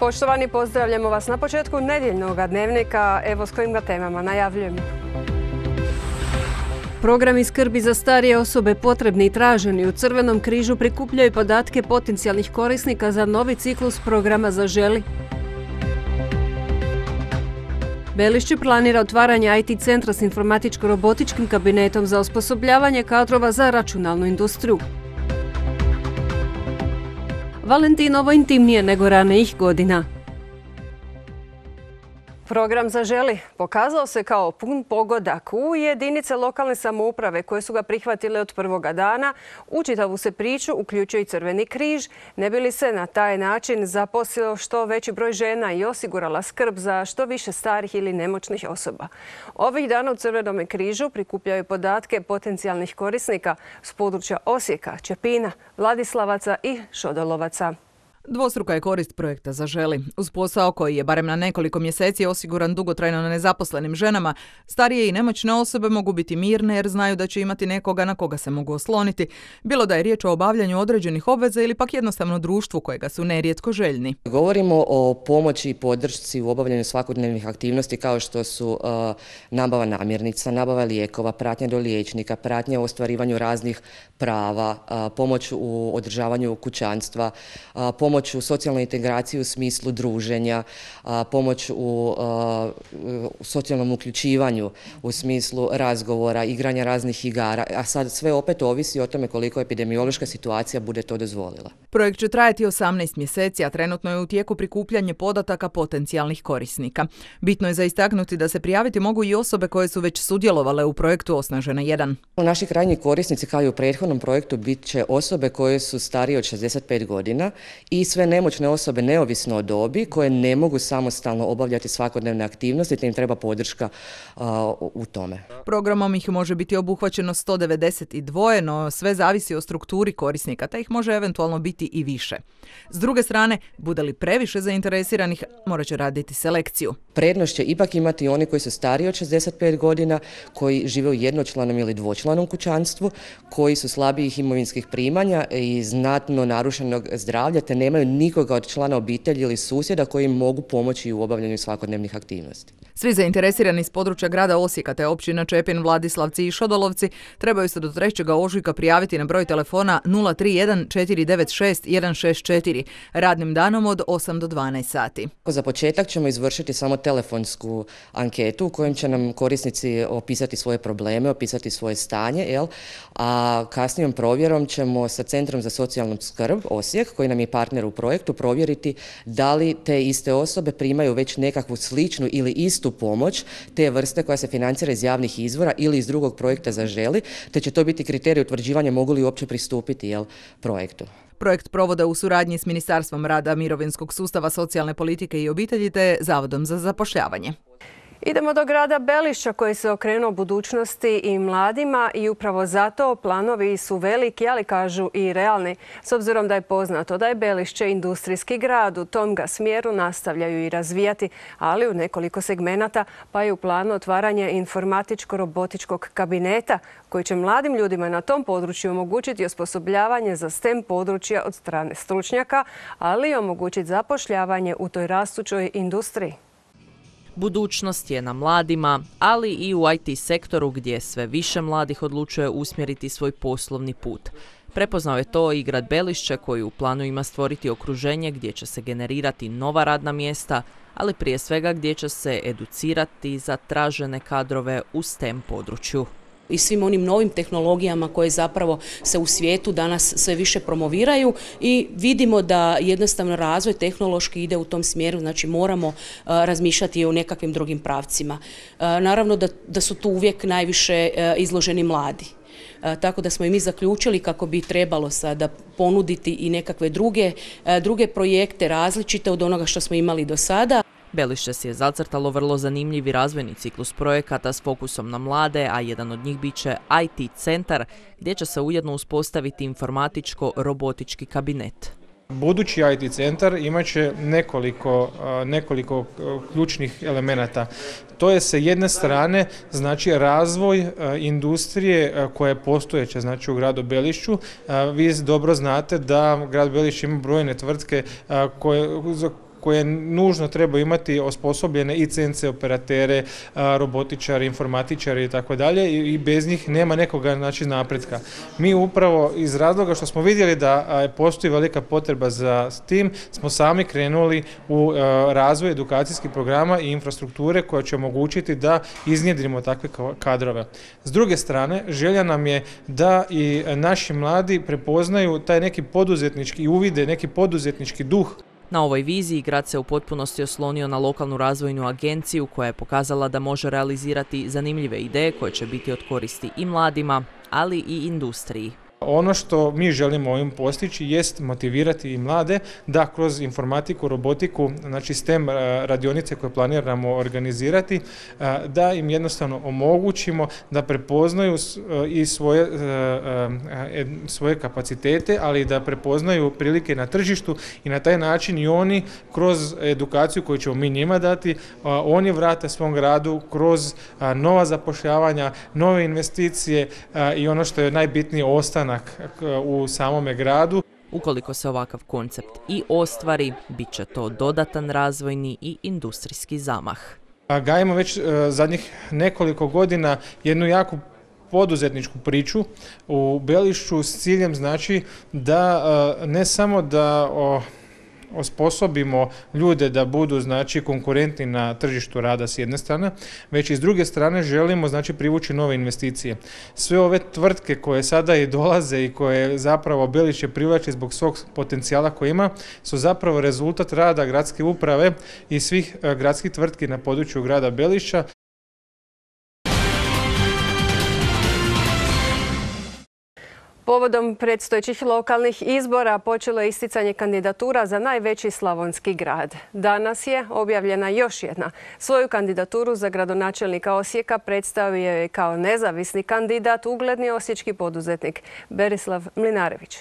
Poštovani, pozdravljamo vas na početku nedjeljnog dnevnika. Evo s kojim ga temama najavljujemo. Programi skrbi za starije osobe potrebni i traženi u Crvenom križu prikupljaju podatke potencijalnih korisnika za novi ciklus programa Zaželi. Belišće planira otvaranje IT centra s informatičko-robotičkim kabinetom za osposobljavanje kadrova za računalnu industriju. Valentinovo intimnije nego ranijih godina. Program Zaželi pokazao se kao pun pogodak u jedinice lokalne samouprave koje su ga prihvatile od prvoga dana. U čitavu se priču uključuje i Crveni križ, ne bi li se na taj način zaposlio što veći broj žena i osigurala skrb za što više starih ili nemoćnih osoba. Ovih dana u Crvenom križu prikupljaju podatke potencijalnih korisnika s područja Osijeka, Čepina, Vladislavaca i Šodolovaca. Dvostruka je korist projekta Zaželi. Uz posao koji je barem na nekoliko mjeseci osiguran dugotrajno nezaposlenim ženama, starije i nemoćne osobe mogu biti mirne jer znaju da će imati nekoga na koga se mogu osloniti, bilo da je riječ o obavljanju određenih obveza ili pak jednostavno društvu kojega su nerijetko željni. Govorimo o pomoći i podršci u obavljanju svakodnevnih aktivnosti kao što su nabava namirnica, nabava lijekova, pratnja do liječnika, pratnja u ostvarivanju raznih prava, pomoć u održavanju kućanstva, pomoć u socijalnoj integraciji u smislu druženja, pomoć u socijalnom uključivanju u smislu razgovora, igranja raznih igara, a sad sve opet ovisi o tome koliko epidemiološka situacija bude to dozvolila. Projekt će trajati 18 mjeseci, a trenutno je u tijeku prikupljanje podataka potencijalnih korisnika. Bitno je za istaknuti da se prijaviti mogu i osobe koje su već sudjelovale u projektu Osnažena 1. Naši krajnji korisnici kao i u prethodnom projektu bit će osobe koje su starije od 65 godina i sve nemoćne osobe neovisno o dobi koje ne mogu samostalno obavljati svakodnevne aktivnosti te im treba podrška u tome. Programom ih može biti obuhvaćeno 192, no sve zavisi o strukturi korisnika, te ih može eventualno biti i više. S druge strane, bude li previše zainteresiranih, morat će raditi selekciju. Prednost će ipak imati oni koji su stariji od 65 godina, koji žive u jednočlanom ili dvočlanom kućanstvu, koji su slabijih imovinskih primanja i znatno narušenog zdravlja, te nemaju nikoga od člana obitelji ili susjeda koji im mogu pomoći u obavljanju svakodnevnih aktivnosti. Svi zainteresirani iz područja grada Osijeka te općina Čepin, Vladislavci i Šodolovci trebaju se do 3. ožujka prijaviti na broj telefona 031 496 164 radnim danom od 8 do 12 sati. Za početak ćemo izvršiti samo telefonsku anketu u kojem će nam korisnici opisati svoje probleme, opisati svoje stanje, a kasnijom provjerom ćemo sa Centrom za socijalnu skrb Osijek, koji nam je partner u projektu, provjeriti da li te iste osobe primaju već nekakvu sličnu ili istu pomoć te vrste koja se financira iz javnih izvora ili iz drugog projekta Zaželi, te će to biti kriterij utvrđivanja mogu li uopće pristupiti projektu. Projekt provode u suradnji s Ministarstvom rada, mirovinskog sustava, socijalne politike i obitelji te Zavodom za zapošljavanje. Idemo do grada Belišća koji se okrenuo budućnosti i mladima i upravo zato planovi su veliki, ali kažu i realni. S obzirom da je poznato da je Belišće industrijski grad, u tom ga smjeru nastavljaju i razvijati, ali u nekoliko segmenata, pa je u planu otvaranje informatičko-robotičkog kabineta koji će mladim ljudima na tom području omogućiti osposobljavanje za STEM područja od strane stručnjaka, ali i omogućiti zapošljavanje u toj rastućoj industriji. Budućnost je na mladima, ali i u IT sektoru gdje sve više mladih odlučuje usmjeriti svoj poslovni put. Prepoznao je to i grad Belišće koji u planu ima stvoriti okruženje gdje će se generirati nova radna mjesta, ali prije svega gdje će se educirati za tražene kadrove u STEM području. I svim onim novim tehnologijama koje zapravo se u svijetu danas sve više promoviraju i vidimo da jednostavno razvoj tehnološki ide u tom smjeru, znači moramo razmišljati o nekakvim drugim pravcima. Naravno da su tu uvijek najviše izloženi mladi. Tako da smo i mi zaključili kako bi trebalo sada ponuditi i nekakve druge projekte različite od onoga što smo imali do sada. Belišće si je zacrtalo vrlo zanimljivi razvojni ciklus projekata s fokusom na mlade, a jedan od njih bit će IT centar, gdje će se ujedno uspostaviti informatičko-robotički kabinet. Budući IT centar imat će nekoliko ključnih elemenata. To je sa jedne strane znači razvoj industrije koja je postojeća znači u gradu Belišću. Vi dobro znate da grad Belišće ima brojne tvrtke koje nužno trebaju imati osposobljene i CNC operatere, robotičari, informatičari i tako dalje i bez njih nema nekoga napretka. Mi upravo iz razloga što smo vidjeli da postoji velika potreba za tim, smo sami krenuli u razvoj edukacijskih programa i infrastrukture koja će omogućiti da iznjedrimo takve kadrove. S druge strane, želja nam je da i naši mladi prepoznaju taj neki poduzetnički i uvide neki poduzetnički duh. Na ovoj viziji grad se u potpunosti oslonio na lokalnu razvojnu agenciju koja je pokazala da može realizirati zanimljive ideje koje će biti od koristi i mladima, ali i industriji. Ono što mi želimo ovim postići jest motivirati i mlade da kroz informatiku, robotiku, znači STEM radionice koje planiramo organizirati, da im jednostavno omogućimo da prepoznaju i svoje kapacitete, ali da prepoznaju prilike na tržištu i na taj način i oni kroz edukaciju koju ćemo mi njima dati, oni vrate svom gradu kroz nova zapošljavanja, nove investicije i ono što je najbitnije, ostanak u samome gradu. Ukoliko se ovakav koncept i ostvari, bit će to dodatan razvojni i industrijski zamah. Gajimo već zadnjih nekoliko godina jednu jaku poduzetničku priču u Belišću s ciljem znači da ne samo da osposobimo ljude da budu znači konkurentni na tržištu rada s jedne strane, već i s druge strane želimo znači privući nove investicije. Sve ove tvrtke koje sada i dolaze i koje zapravo Belišće privlači zbog svog potencijala koji ima su zapravo rezultat rada gradske uprave i svih gradskih tvrtki na području grada Belišća. Povodom predstojećih lokalnih izbora počelo je isticanje kandidatura za najveći slavonski grad. Danas je objavljena još jedna. Svoju kandidaturu za gradonačelnika Osijeka predstavio je kao nezavisni kandidat ugledni osječki poduzetnik Berislav Mlinarević.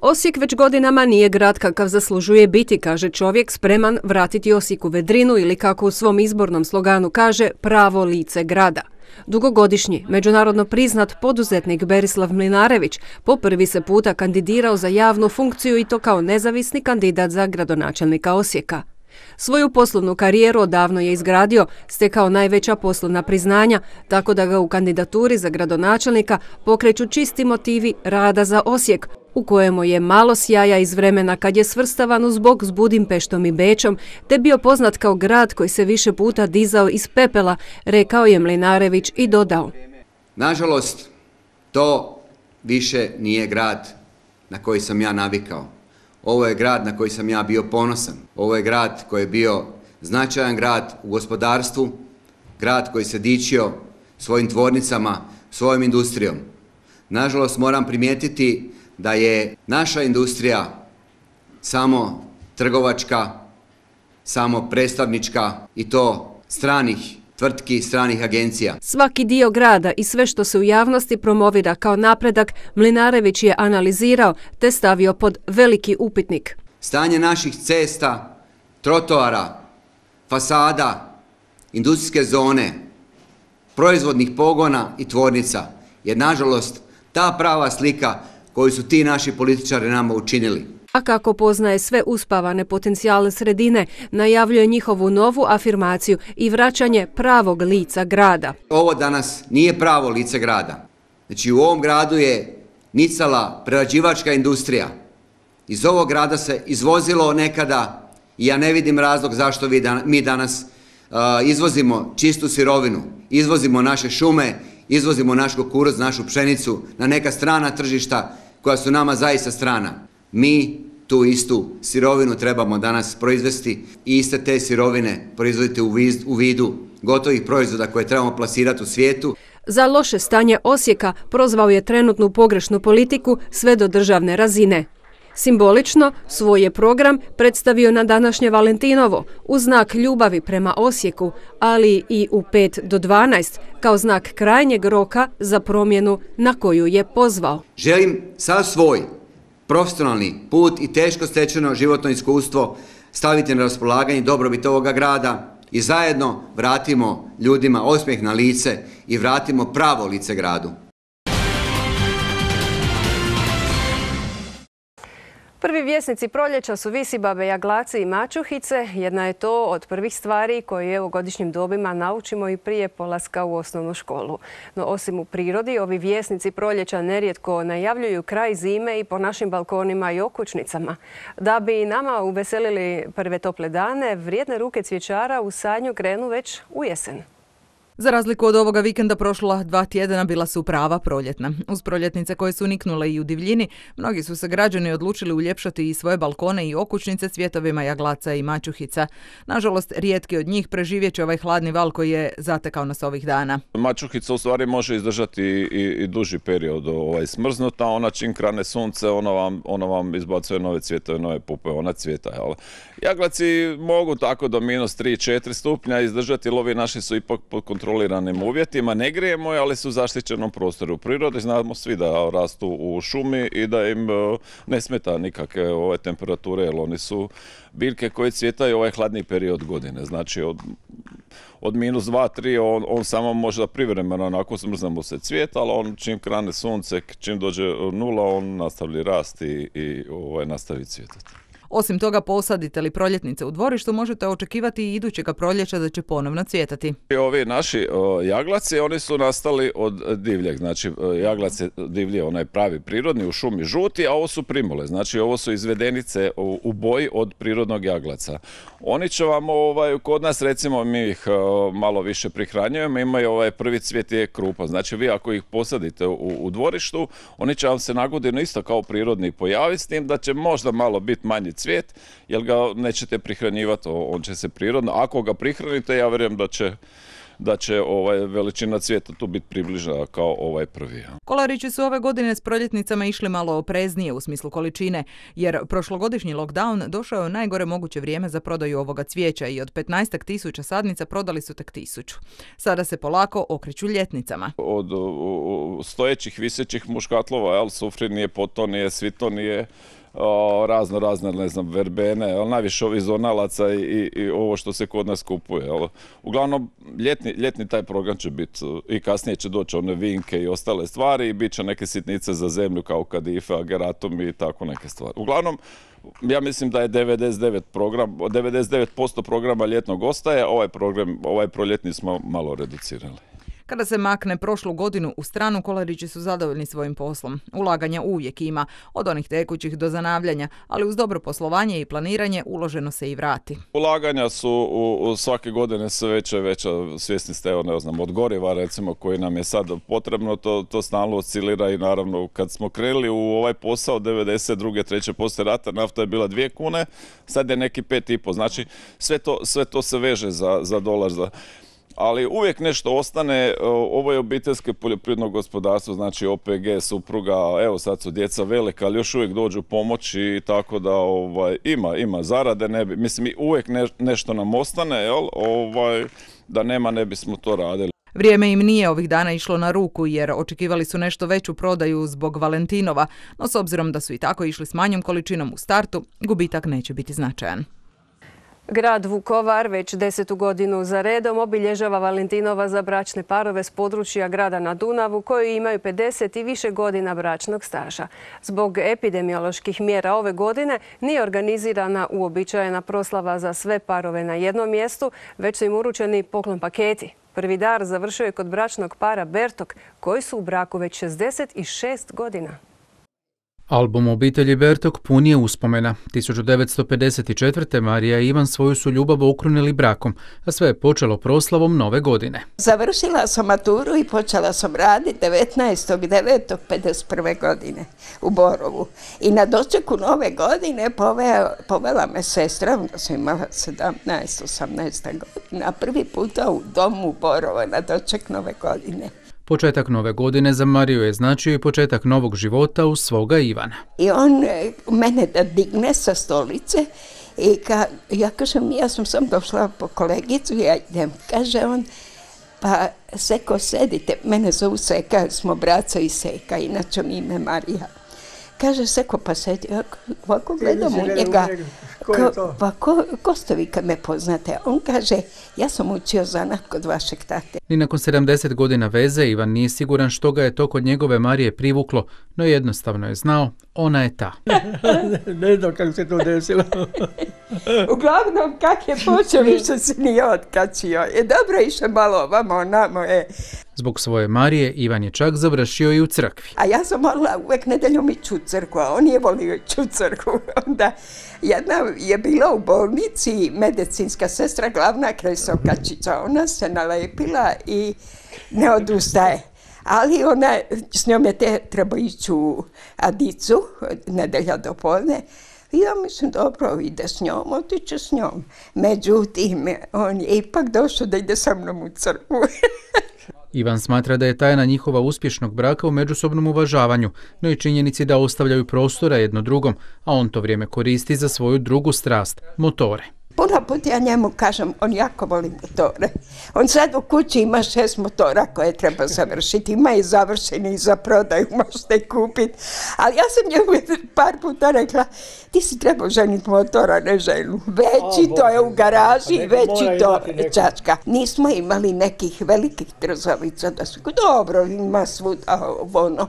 Osijek već godinama nije grad kakav zaslužuje biti, kaže čovjek spreman vratiti Osijeku vedrinu ili kako u svom izbornom sloganu kaže pravo lice grada. Dugogodišnji, međunarodno priznat poduzetnik Berislav Mlinarević po prvi se puta kandidirao za javnu funkciju i to kao nezavisni kandidat za gradonačelnika Osijeka. Svoju poslovnu karijeru odavno je izgradio, stekao najveća poslovna priznanja, tako da ga u kandidaturi za gradonačelnika pokreću čisti motivi rada za Osijek, u kojemu je malo sjaja iz vremena kad je svrstavan uz bok s Budimpeštom i Bečom, te bio poznat kao grad koji se više puta dizao iz pepela, rekao je Mlinarević i dodao. Nažalost, to više nije grad na koji sam ja navikao. Ovo je grad na koji sam ja bio ponosan. Ovo je grad koji je bio značajan grad u gospodarstvu, grad koji se dičio svojim tvornicama, svojom industrijom. Nažalost, moram primijetiti da je naša industrija samo trgovačka, samo predstavnička i to stranih tvrtki, stranih agencija. Svaki dio grada i sve što se u javnosti promovira kao napredak, Mlinarević je analizirao te stavio pod veliki upitnik. Stanje naših cesta, trotoara, fasada, industrijske zone, proizvodnih pogona i tvornica je nažalost ta prava slika koju su ti naši političari nama učinili. A kako poznaje sve uspavane potencijale sredine, najavljuje njihovu novu afirmaciju i vraćanje pravog lica grada. Ovo danas nije pravo lice grada. Znači u ovom gradu je nicala prerađivačka industrija. Iz ovog grada se izvozilo nekada i ja ne vidim razlog zašto mi danas izvozimo čistu sirovinu, izvozimo naše šume, izvozimo naš kukuruz, našu pšenicu na neka strana tržišta koja su nama zaista strana. Mi tu istu sirovinu trebamo danas proizvesti i iste te sirovine proizvoditi u vidu gotovih proizvoda koje trebamo plasirati u svijetu. Za loše stanje Osijeka prozvao je trenutnu pogrešnu politiku sve do državne razine. Simbolično svoj je program predstavio na današnje Valentinovo u znak ljubavi prema Osijeku, ali i u 5 do 12 kao znak krajnjeg roka za promjenu na koju je pozvao. Želim sav svoj profesionalni put i teško stečeno životno iskustvo staviti na raspolaganje dobrobit ovoga grada i zajedno vratimo ljudima osmijeh na lice i vratimo pravo lice gradu. Prvi vjesnici proljeća su visibabe, jaglaci i mačuhice. Jedna je to od prvih stvari koje u godišnjim dobima naučimo i prije polaska u osnovnu školu. No osim u prirodi, ovi vjesnici proljeća nerijetko najavljuju kraj zime i po našim balkonima i okućnicama. Da bi i nama uveselili prve tople dane, vrijedne ruke cvjećara u sadnju krenu već u jesen. Za razliku od ovoga vikenda prošla 2 tjedna bila su prava proljetna. Uz proljetnice koje su niknule i u divljini, mnogi su se građani odlučili uljepšati i svoje balkone i okućnice cvjetovima jaglaca i mačuhica. Nažalost, rijetki od njih preživjet će ovaj hladni val koji je zatekao nas ovih dana. Mačuhica u stvari može izdržati i duži period smrznuta. Ona čim krane sunce, ona vam izbacuje nove cvjetove, nove pupe, ona cvjeta. Jaglaci mogu tako do minus 3-4 stupnja izdržati, jer ovi naši su ipak pod kontroliranim uvjetima, ne grijemo, ali su u zaštićenom prostoru. U prirodi znamo svi da rastu u šumi i da im ne smeta nikakve temperature, jer oni su biljke koje cvjetaju ovaj hladni period godine. Znači od minus 2-3 on samo možda privremeno onako smrzne mu se cvijet, ali on čim krane sunce, čim dođe nula, on nastavi rasti i nastavi cvjetati. Osim toga, posadite li proljetnice u dvorištu, možete očekivati i idućega proljeća da će ponovno cvjetati. Ovi naši jaglaci, oni su nastali od divljeg. Znači, jaglac je divlji, onaj pravi prirodni, u šumi žuti, a ovo su primule. Znači, ovo su izvedenice u boji od prirodnog jaglaca. Oni će vam, kod nas, recimo, mi ih malo više prihranjujemo, imaju prvi cvjet je krupa. Znači, vi ako ih posadite u dvorištu, oni će vam se na godinu isto kao prirodni pojaviti, s tim da će možda malo biti manji cvijet, jer ga nećete prihranjivati, on će se prirodno. Ako ga prihranite, ja vjerujem da će veličina cvijeta tu biti približna kao ovaj prvi. Kolarići su ove godine s proljetnicama išli malo opreznije u smislu količine, jer prošlogodišnji lockdown došao je u najgore moguće vrijeme za prodaju ovoga cvijeća i od 15.000 sadnica prodali su tek 1000. Sada se polako okreću ljetnicama. Od stojećih, visećih muškatlova, sufrinije, potonije, svitonije, razne, ne znam, verbene, najviše ovi zonalaca i ovo što se kod nas kupuje. Uglavnom, ljetni taj program će biti i kasnije će doći one vinke i ostale stvari i bit će neke sitnice za zemlju kao kadife, ageratum i tako neke stvari. Uglavnom, ja mislim da je 99% programa ljetnog ostaje, ovaj proljetni smo malo reducirali. Kada se makne prošlu godinu u stranu, kolarići su zadovoljni svojim poslom. Ulaganja uvijek ima, od onih tekućih do zanavljanja, ali uz dobro poslovanje i planiranje uloženo se i vrati. Ulaganja su svake godine sve veća i veća, svjesni ste, od goriva recimo koji nam je sad potrebno, to stalno oscilira i naravno kad smo krenuli u ovaj posao 92. 3. poslije rata, nafta je bila 2 kune, sad je neki 5,5, znači sve to se veže za dolar. Ali uvijek nešto ostane, ovo je obiteljsko poljoprivredno gospodarstvo, znači OPG, supruga, evo sad su djeca velika, ali još uvijek dođu pomoći, tako da ima zarade, mislim uvijek nešto nam ostane, da nema ne bismo to radili. Vrijeme im nije ovih dana išlo na ruku jer očekivali su nešto veću prodaju zbog Valentinova, no s obzirom da su i tako išli s manjom količinom u startu, gubitak neće biti značajan. Grad Vukovar već 10. godinu za redom obilježava Valentinova za bračne parove s područja grada na Dunavu koji imaju 50 i više godina bračnog staža. Zbog epidemioloških mjera ove godine nije organizirana uobičajena proslava za sve parove na jednom mjestu, već su im uručeni poklon paketi. Prvi dar završio je kod bračnog para Bertok koji su u braku već 66 godina. Album obitelji Bertok pun je uspomena. 1954. Marija i Ivan svoju su ljubav okrunili brakom, a sve je počelo proslavom Nove godine. Završila sam maturu i počela sam raditi 19.9.51. godine u Borovu. I na dočeku Nove godine povela me sestra, onda sam imala 17-18 godina, prvi puta u domu u Borovu na doček Nove godine. Početak Nove godine za Mariju je značio i početak novog života uz svoga Ivana. I on mene da digne sa stolice i ja kažem, ja sam sam došla po kolegicu, ja idem, kaže on, pa Seko sedite, mene zovu Seka, smo braca i Seka, inače mi ime Marija. Kaže Seko, pa sedi, ovako gledam u njega, Ko je to? Pa ko ste vi kad me poznate? On kaže, ja sam učio zanat kod vašeg tate. Ni nakon 70 godina veze Ivan nije siguran što ga je to kod njegove Marije privuklo, no jednostavno je znao, ona je ta. Ne znam kako se to desilo. Uglavnom, kak je počeo, više se nije otkačio. Dobro išao malo ovamo, namo je. Zbog svoje Marije Ivan je čak završio i u crkvi. A ja sam morala uvijek nedeljom ići u crkvu, a on je volio ići u crkvu. Onda jedna je bila u bolnici, medicinska sestra, glavna kresokačica. Ona se nalepila i ne odustaje. Ali ona, s njom je trebao ići u Adicu, nedelja do podne. I ja mislim, dobro, ide s njom, otiće s njom. Međutim, on je ipak došao da ide sa mnom u crkvu. Ivan smatra da je tajna njihova uspješnog braka u međusobnom uvažavanju, no i činjenici da ostavljaju prostora jedno drugom, a on to vrijeme koristi za svoju drugu strast, motore. Puno put ja njemu kažem, on jako voli motore. On sad u kući ima 6 motora koje treba završiti. Ima i završeni za prodaju, možete kupiti. Ali ja sam njemu par puta rekla, ti si trebao ženiti motora, ne ženu. Veći to je u garaži, veći to čačka. Nismo imali nekih velikih trzavica da su dobro, ima svuda ono.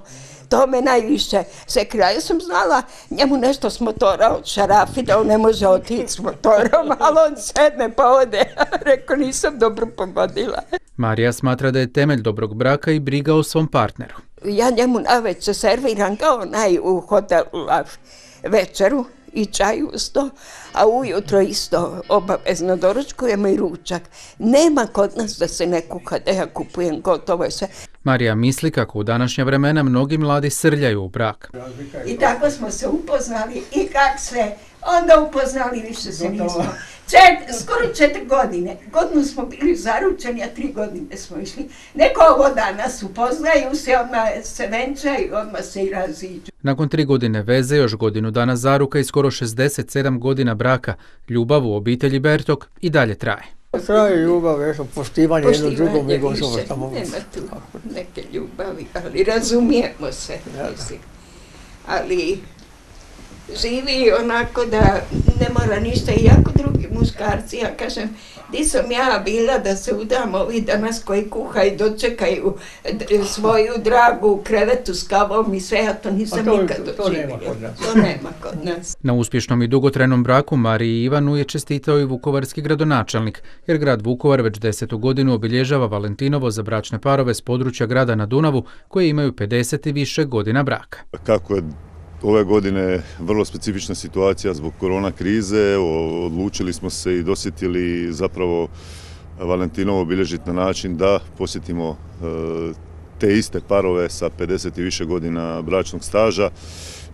To me najviše sekira. Ja sam znala njemu nešto s motora od šarafi, da on ne može otići s motorom, ali on sedne pa ode. Rekao, nisam dobro pogodila. Marija smatra da je temelj dobrog braka i briga o svom partneru. Ja njemu navečer serviram kao onaj u hotelu večeru i čaj usto, a ujutro isto obavezno doručkujemo i ručak. Nema kod nas da se ne kuha, da ja kupujem gotovo sve. Marija misli kako u današnja vremena mnogi mladi srljaju u brak. I tako smo se upoznali i kak se onda upoznali, više se nismo. Skoro 4 godine. Godinu smo bili zaručeni, a 3 godine smo išli. Neko ovo danas upoznaju se, odmah se venčaju, odmah se i raziđu. Nakon 3 godine veze, još godinu dana zaruka i skoro 67 godina braka, ljubav u obitelji Bertok i dalje traje. Traje ljubav, poštivanje jedno drugom. Nema tu neke ljubavi, ali razumijemo se. Mislim. Ali živi onako da ne mora ništa, i jako drugi muškarci, ja kažem, di sam ja bila da se udam ovi danas koji kuhaju, dočekaju svoju dragu u krevetu s kavom i sve, ja to nisam nikad doživjela. To nema kod nas. Na uspješnom i dugotrajnom braku Mariji i Ivanu je čestitao i vukovarski gradonačelnik, jer grad Vukovar već 10. godinu obilježava Valentinovo za bračne parove s područja grada na Dunavu koji imaju 50 i više godina braka. Kako je ove godine vrlo specifična situacija zbog korona krize, odlučili smo se i dosjetili zapravo Valentinovo obilježiti na način da posjetimo te iste parove sa 50 i više godina bračnog staža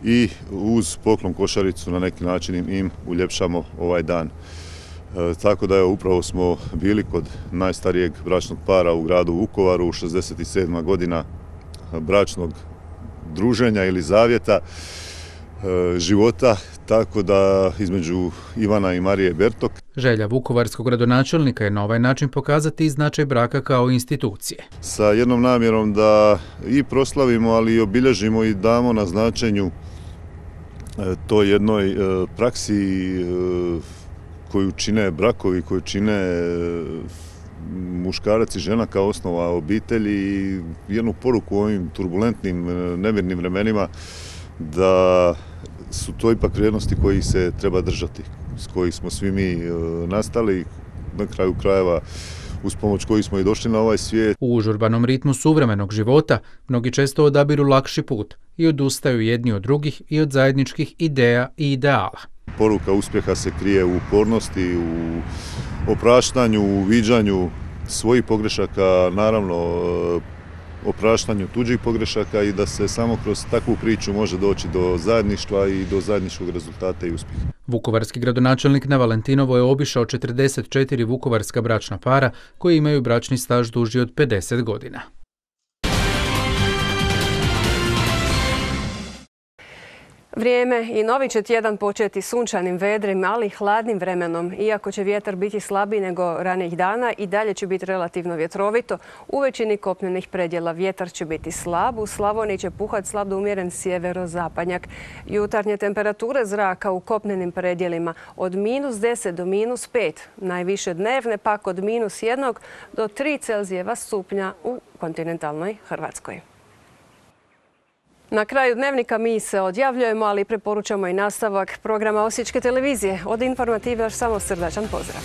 i uz poklon košaricu na neki način im uljepšamo ovaj dan. Tako da upravo smo bili kod najstarijeg bračnog para u gradu Vukovaru, 67. godina bračnog druženja ili zavjeta života, tako da između Ivana i Marije Bertok. Želja vukovarskog gradonačelnika je na ovaj način pokazati značaj braka kao institucije. Sa jednom namjerom da i proslavimo, ali i obilježimo i damo na značenju toj jednoj praksi koju čine brakovi, koju čine muškarac i žena kao osnova obitelji i jednu poruku u ovim turbulentnim, nemirnim vremenima da su to ipak vrijednosti kojih se treba držati, s kojih smo svi mi nastali, na kraju krajeva uz pomoć kojih smo i došli na ovaj svijet. U užurbanom ritmu suvremenog života mnogi često odabiru lakši put i odustaju jedni od drugih i od zajedničkih ideja i ideala. Poruka uspjeha se krije u upornosti, u opraštanju, u viđanju svojih pogrešaka, naravno opraštanju tuđih pogrešaka i da se samo kroz takvu priču može doći do zajedništva i do zajedničkog rezultata i uspjeha. Vukovarski gradonačelnik na Valentinovo je obišao 44 vukovarska bračna para koji imaju bračni staž duži od 50 godina. Vrijeme i novi će tjedan početi sunčanim, vedrim, ali i hladnim vremenom. Iako će vjetar biti slabiji nego ranijih dana, i dalje će biti relativno vjetrovito. U većini kopnenih predjela vjetar će biti slab. U Slavoniji će puhati slab do umjeren sjeverozapadnjak. Jutarnje temperature zraka u kopnenim predjelima od -10 do -5. Najviše dnevne pak od -1 do 3 Celzijeva stupnja u kontinentalnoj Hrvatskoj. Na kraju dnevnika mi se odjavljujemo, ali preporučamo i nastavak programa Osječke televizije. Od Informative još samo srdačan pozdrav.